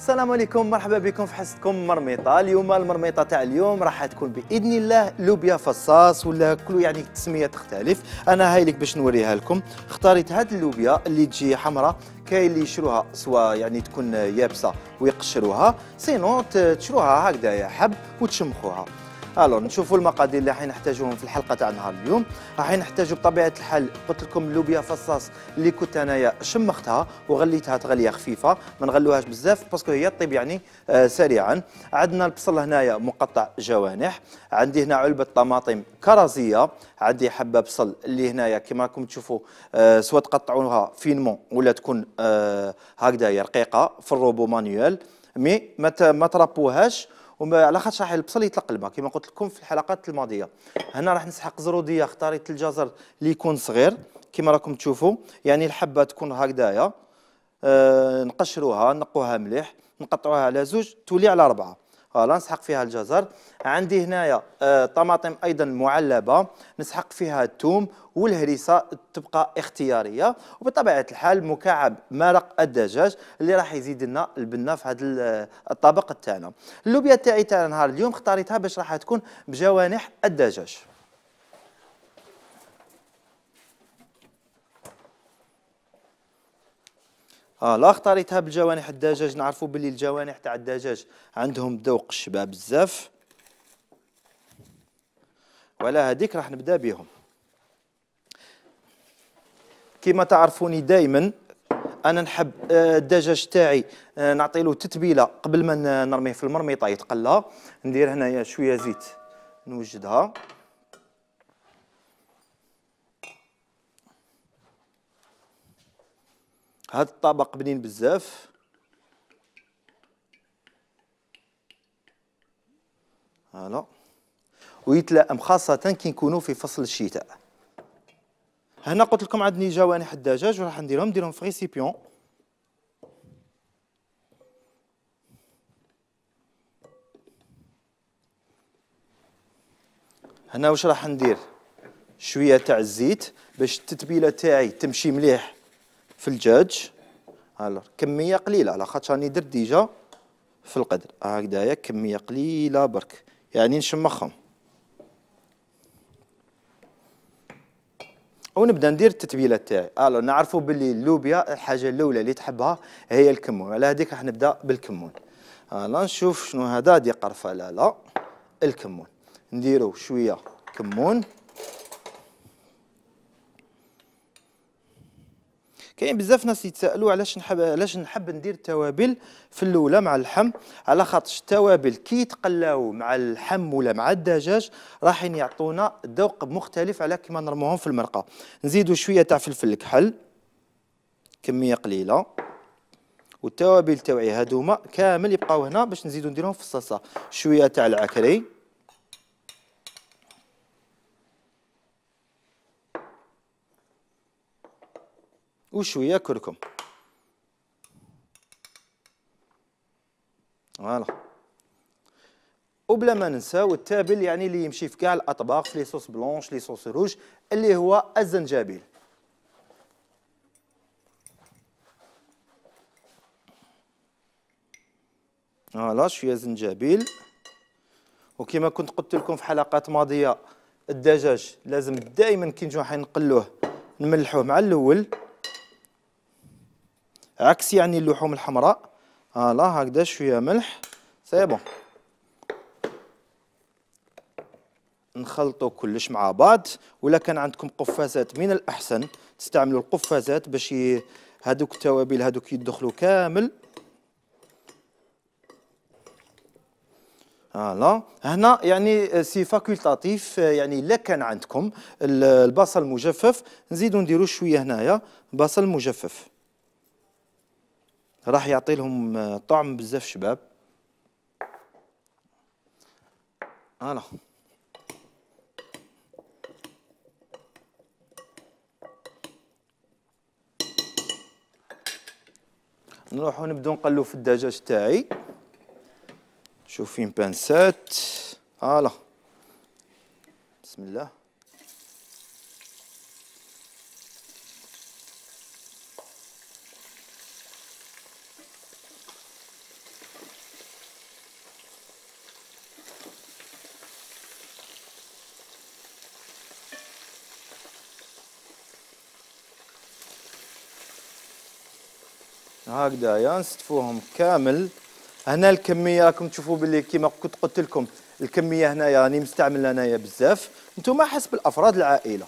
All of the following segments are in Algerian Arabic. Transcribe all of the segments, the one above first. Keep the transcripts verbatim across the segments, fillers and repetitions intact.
السلام عليكم، مرحبا بكم في حصتكم مرميطه. اليوم المرميطه تاع اليوم راح تكون باذن الله لوبيا فصاص ولا كل يعني تسميه تختلف. انا هاي لك باش نوريها لكم. اختاريت هاد اللوبيا اللي تجي حمراء، كاين اللي يشروها سواء يعني تكون يابسه ويقشروها، سينو تشروها هكذايا حب وتشمخوها. الو نشوفوا المقادير اللي راح نحتاجوهم في الحلقه تاع نهار اليوم. راح نحتاجوا بطبيعه الحال قلت لكم لوبيا فصاص اللي كنت انايا شمختها وغليتها تغليه خفيفه، ما نغلوهاش بزاف باسكو هي طيب يعني آه سريعا. عندنا البصل هنايا مقطع جوانح، عندي هنا علبه طماطم كرزيه، عندي حبه بصل اللي هنايا كما راكم تشوفوا آه سواء تقطعوها فينمون ولا تكون آه هكذايا رقيقه في الروبو مانيوال، مي ما ما تربوهاش على خاطر راح البصل يطلق الماء كما قلت لكم في الحلقات الماضيه. هنا راح نسحق زروديه، اختاريت الجزر اللي يكون صغير كما راكم تشوفوا، يعني الحبه تكون هكذايا. أه نقشروها نقوها مليح، نقطعوها على زوج تولي على اربعه. فوالا نسحق فيها الجزر. عندي هنايا آه طماطم ايضا معلبه، نسحق فيها الثوم والهريسه تبقى اختياريه، وبطبيعه الحال مكعب مرق الدجاج اللي راح يزيد لنا البنه في هذا الطبق تاعنا. اللوبيا تاعي تاع نهار اليوم اختاريتها باش راح تكون بجوانح الدجاج. اه لا اختاريتها بالجوانح الدجاج، نعرفوا باللي الجوانح تاع الدجاج عندهم ذوق الشباب بزاف، وعلى هذيك راح نبدا بهم. كما تعرفوني دائما انا نحب الدجاج تاعي نعطي له تتبيله قبل ما نرميه في المرميطه يتقلى. ندير هنايا شويه زيت نوجدها، هذا الطبق بنين بزاف. هلا ويتلائم خاصة كي نكونوا في فصل الشتاء. هنا قلت لكم عندي جوانح الدجاج وراح نديرهم نديرهم في ريسيبيون. هنا واش راح ندير؟ شوية تاع الزيت باش التتبيلة تاعي تمشي مليح في الدجاج. هلا كمية قليلة على خاطر راني درت ديجا في القدر هكذايا، كمية قليلة برك يعني نشمخهم. ونبدا ندير التتبيله تاعي. الو نعرفوا باللي اللوبيا الحاجه الاولى اللي تحبها هي الكمون، على هذيك راح نبدا بالكمون. هلا نشوف شنو هذا، دي قرفه لا لا الكمون، نديرو شويه كمون. كاين بزاف ناس يتسائلوا علاش نحب علاش نحب ندير التوابل في الاولى مع اللحم، على خاطر التوابل كي يتقلاو مع اللحم ولا مع الدجاج راح يعطونا ذوق مختلف على كيما نرموهم في المرقه. نزيدوا شويه تاع فلفل الكحل كميه قليله، والتوابل تاوعي هذوما كامل يبقاو هنا باش نزيدوا نديرهم في الصلصه. شويه تاع العكري، وشويه كركم. فوالا وبلا ما ننساو التابل يعني اللي يمشي في كاع الاطباق، في لي صوص بلونش لي صوص روج، اللي هو الزنجبيل. فوالا شويه زنجبيل. وكما كنت قلت لكم في حلقات ماضيه الدجاج لازم دائما كي نجوا حين نقلوه نملحوه مع الاول، عكس يعني اللحوم الحمراء. فوالا هكذا شويه ملح سي بون. نخلطوا كلش مع بعض، ولا كان عندكم قفازات من الاحسن تستعملوا القفازات باش هذوك التوابل هذوك يدخلوا كامل. فوالا هنا يعني سي فاكولتاتيف، يعني الا كان عندكم البصل مجفف نزيدوا نديروا شويه هنايا بصل مجفف، راح يعطي لهم طعم بزاف شباب. فوالا نروحو نبداو نقلو في الدجاج تاعي. شوف فين بانسات. فوالا بسم الله. هكذايا نستفوهم كامل. هنا الكميه راكم تشوفوا باللي كيما كنت قلت لكم الكميه هنايا راني مستعمل انايا بزاف، نتوما حسب الافراد العائله.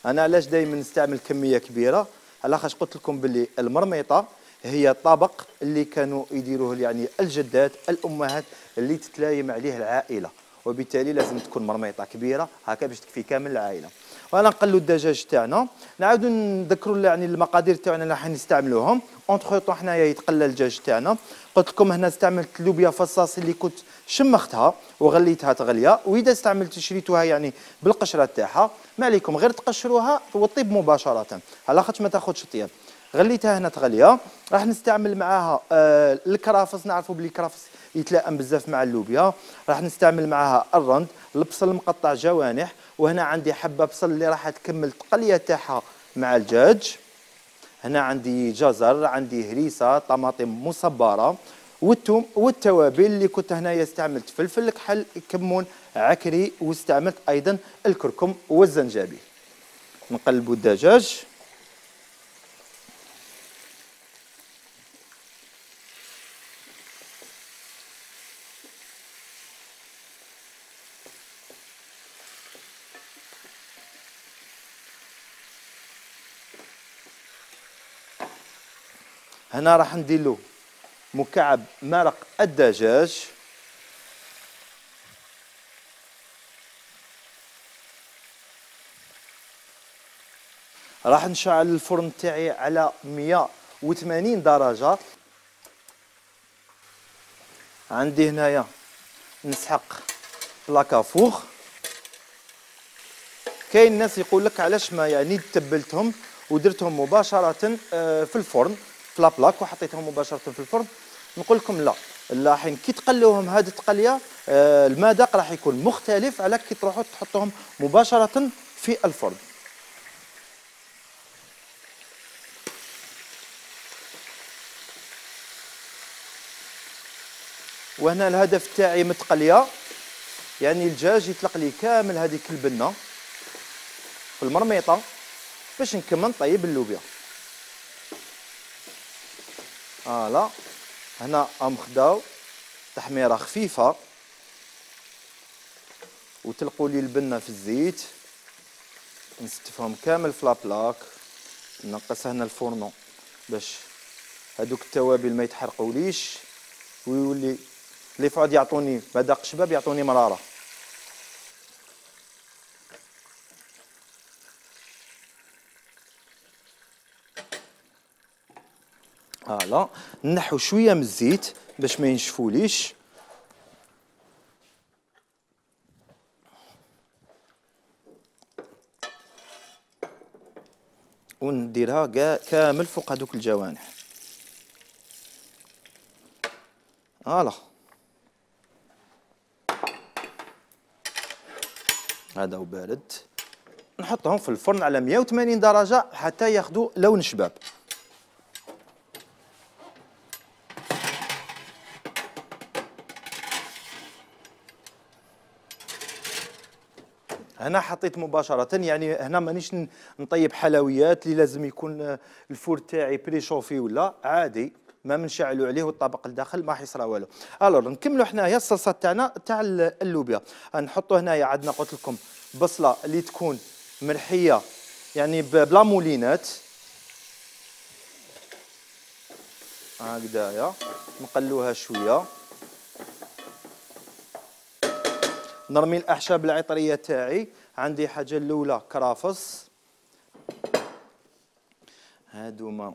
انا علاش دائما نستعمل كميه كبيره؟ على خاطر قلت لكم باللي المرميطه هي طبق اللي كانوا يديروه يعني الجدات الامهات اللي تتلايم عليه العائله، وبالتالي لازم تكون مرميطه كبيره هكا باش تكفي كامل العائله. وانا نقلوا الدجاج تاعنا، نعاودوا نذكروا يعني المقادير تاعنا اللي راح نستعملوهم. اونتخ طون حنايا يتقلى الدجاج تاعنا. قلت لكم هنا استعملت لوبيا فصاص اللي كنت شمختها وغليتها تغليه، واذا استعملت شريتوها يعني بالقشره تاعها ما عليكم غير تقشروها وطيب مباشره على خاطر ما تاخذش طياب. غليتها هنا تغليه. راح نستعمل معاها آه الكرافس، نعرفوا بلي الكرافس يتلائم بزاف مع اللوبيا. راح نستعمل معاها الرند، البصل مقطع جوانح، وهنا عندي حبه بصل اللي راح تكمل التقليه تاعها مع الدجاج. هنا عندي جزر، عندي هريسه، طماطم مصبره، والثوم والتوابل اللي كنت هنايا استعملت فلفل كحل، كمون، عكري، واستعملت ايضا الكركم والزنجبيل. نقلبوا الدجاج. هنا راح ندير له مكعب مرق الدجاج. راح نشعل الفرن تاعي على مئة وثمانين درجة. عندي هنايا نسحق لاكافوغ. كاين ناس يقول لك علاش ما يعني تبلتهم ودرتهم مباشرة في الفرن في لابلاك وحطيتهم مباشرة في الفرن. نقول لكم لا، لاحين كي تقلوهم هذه التقليه المذاق راح يكون مختلف على كي تروحوا تحطوهم مباشرة في الفرن. وهنا الهدف تاعي من التقليه يعني الدجاج يطلق لي كامل هذيك البنه في المرميطه باش نكمل نطيب اللوبيا. فوالا هنا راهم خداو تحميره خفيفه وتلقوا لي البنه في الزيت. نستفهم كامل في لابلاك. نقص هنا الفورنو باش هذوك التوابل ما يتحرقوليش ويولي لي فؤاد يعطوني مذاق شباب، يعطوني مراره. فوالا نحو شويه من الزيت باش ما ينشفوليش. ونديرها كاع كامل فوق هذوك الجوانح. فوالا هذا وبارد. نحطهم في الفرن على مئة وثمانين درجة حتى ياخذوا لون شباب. هنا حطيت مباشرة يعني هنا مانيش نطيب حلويات اللي لازم يكون الفور تاعي بريشوفي ولا عادي، ما منشعلوا عليه والطبق الداخل ما حيصرى والو. الوغ نكملوا حنايا الصلصه تاعنا تاع اللوبيا. نحطوا هنايا عندنا قلت لكم بصله اللي تكون مرحيه يعني بلا مولينات هكذايا. نقلوها شويه. نرمي الاعشاب العطريه تاعي. عندي حاجه الاولى كرافس، هادوما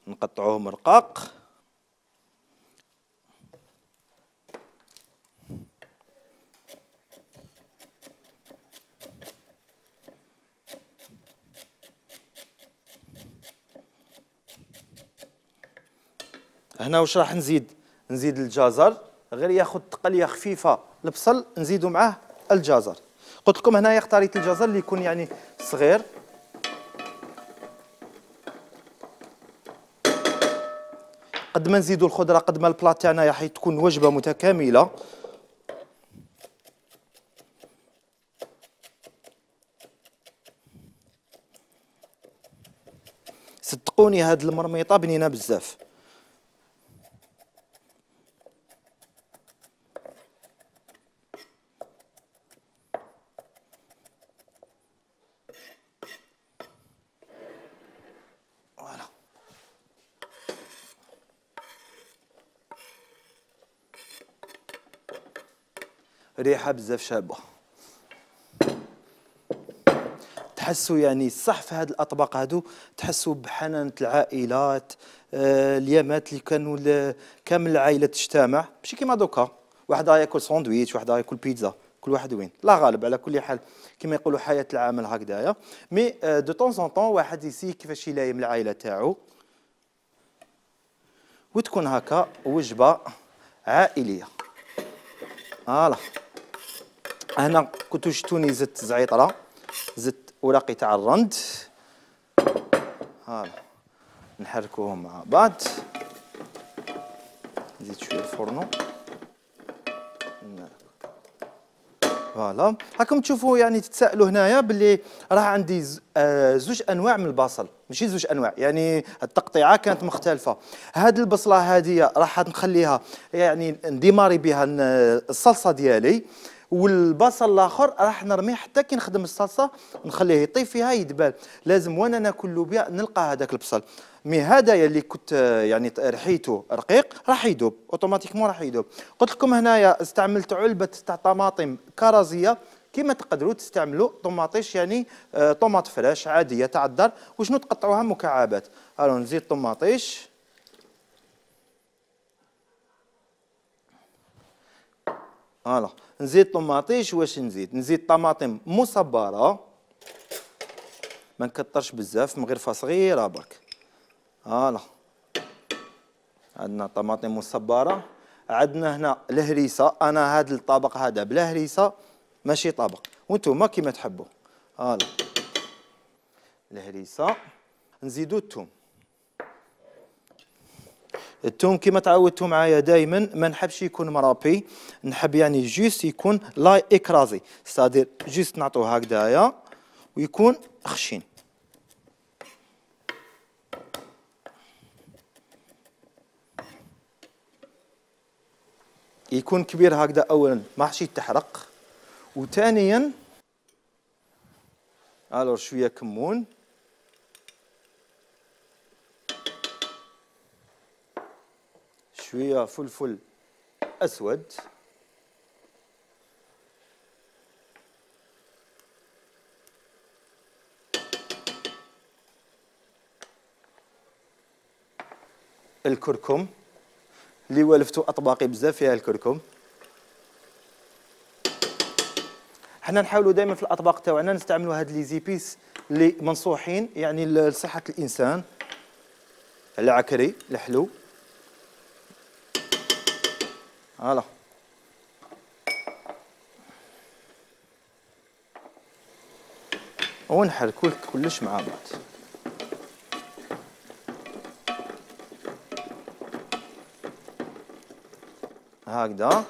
نقطعوهم رقاق. هنا واش راح نزيد؟ نزيد الجزر غير ياخذ تقليه خفيفه. البصل نزيدوا معاه الجزر. قلت لكم هنايا اختاريت الجزر اللي يكون يعني صغير. قد ما نزيدوا الخضره قد ما البلا تاعنا راح تكون وجبه متكامله. صدقوني هاد المرميطه بنينه بزاف. فوالا ريحه بزاف شابه. تحسوا يعني صح في هاد الاطباق هادو تحسوا بحنانه العائلات، آه اليامات اللي كانوا كامل العائله تجتمع، ماشي كيما دوكا واحد ياكل ساندويتش واحد ياكل بيتزا كل واحد وين. لا غالب على كل حال كما يقولوا حياه العمل هكذايا. مي آه دو طون زون طون واحد يسي كيفاش يلايم العائله تاعو وتكون هكا وجبه عائليه. فوالا هنا كنتو شفتوني زدت زعيطره، زدت اوراقي تاع الرند. هالا نحركوهم مع بعض. نزيد شويه الفرن. فوالا راكم تشوفوا يعني تتسائلوا هنايا باللي راه عندي زوج انواع من البصل، ماشي زوج انواع يعني التقطيعه كانت مختلفه. هاد البصله هذه راح نخليها يعني نديماري بها الصلصه ديالي، والبصل الاخر راح نرميه حتى كي نخدم الصلصه نخليه يطيب فيها يدبال. لازم وانا ناكل لوبيا نلقى هذاك البصل. مي هذايا اللي كنت يعني رحيته رقيق راح يذوب اوتوماتيكمون، راح يذوب. قلت لكم هنايا استعملت علبه تاع طماطم كرزيه، كيما تقدروا تستعملوا طماطيش يعني آه طماط فريش عاديه تاع الدار، وشنو تقطعوها مكعبات. الو نزيد طماطيش. فوالا نزيد طماطيش. واش نزيد؟ نزيد طماطم مصبره، ما نكثرش بزاف، مغرفه صغيره برك. فوالا عندنا طماطم مصبره. عندنا هنا الهريسه، انا هذا الطبق هذا بلا هريسه ماشي طبق، وانتم كيما تحبوا. فوالا الهريسه. نزيدو الثوم. الثوم كيما تعودتوا معايا دائما ما نحبش يكون مرابي، نحب يعني جوست يكون لا اكرازي، ستادير جوست نعطوه هكذايا ويكون خشين. يكون كبير هكذا اولا ما حش يتحرق، وثانيا الو شويه كمون، شويه فلفل اسود، الكركم اللي ولفتوا اطباقي بزاف فيها الكركم. حنا نحاولوا دائما في الاطباق تاعنا نستعملوا هاد لي زيبيس اللي منصوحين يعني لصحه الانسان. العكري الحلو. فوالا ونحركوا كلش مع بعض. هكذا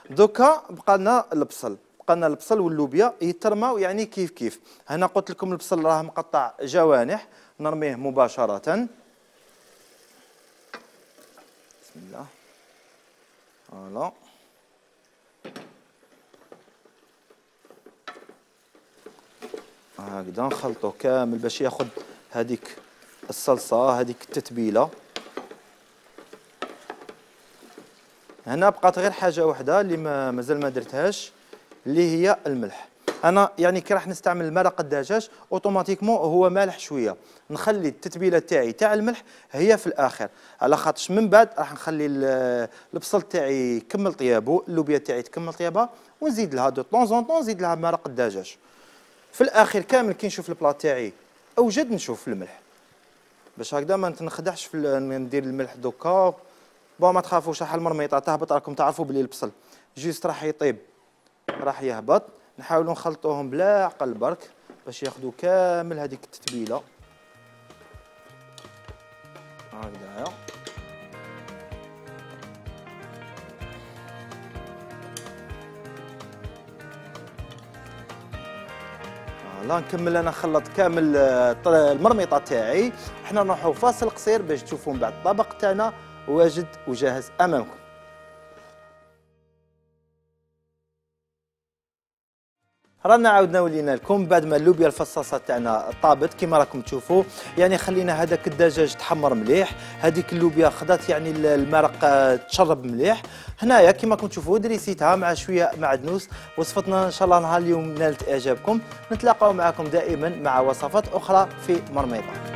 دوكا بقى لنا البصل، بقى لنا البصل واللوبيا يترماو يعني كيف كيف. هنا قلت لكم البصل راه مقطع جوانح، نرميه مباشرة. بسم الله. فوالا هكذا نخلطوه كامل باش ياخذ هذيك الصلصة هذيك التتبيلة. هنا بقات غير حاجه واحده اللي ما مازال ما درتهاش، اللي هي الملح. انا يعني كي راح نستعمل مرق الدجاج اوتوماتيكمون هو مالح شويه، نخلي التتبيله تاعي تاع الملح هي في الاخر، على خاطرش من بعد راح نخلي البصل تاعي يكمل طيابو، اللوبيا تاعي تكمل طيابها، ونزيد لها دو طون زون طون نزيد لها مرق الدجاج. في الاخر كامل كي نشوف البلا تاعي اوجد نشوف الملح، باش هكذا ما نتنخدعش في ندير الملح دوكا. بون ما تخافوش راح المرميطه تهبط، راكم تعرفوا بلي البصل جيست راح يطيب راح يهبط. نحاولوا نخلطوهم بلا عقل برك باش ياخذوا كامل هذيك التتبيله هكذايا. فوالا نكمل انا خلط كامل المرميطه تاعي. حنا نروحوا فاصل قصير باش تشوفوا من بعد الطبق تاعنا واجد وجاهز امامكم. رانا عاودنا ولينا لكم بعد ما اللوبيا الفصاصه تاعنا طابت كما راكم تشوفوا. يعني خلينا هذاك الدجاج تحمر مليح، هذيك اللوبيا خدات يعني المرق تشرب مليح. هنايا كما راكم تشوفوا دريسيتها مع شويه معدنوس. وصفتنا ان شاء الله نهار اليوم نالت اعجابكم. نتلاقاو معكم دائما مع وصفات اخرى في مرميطه.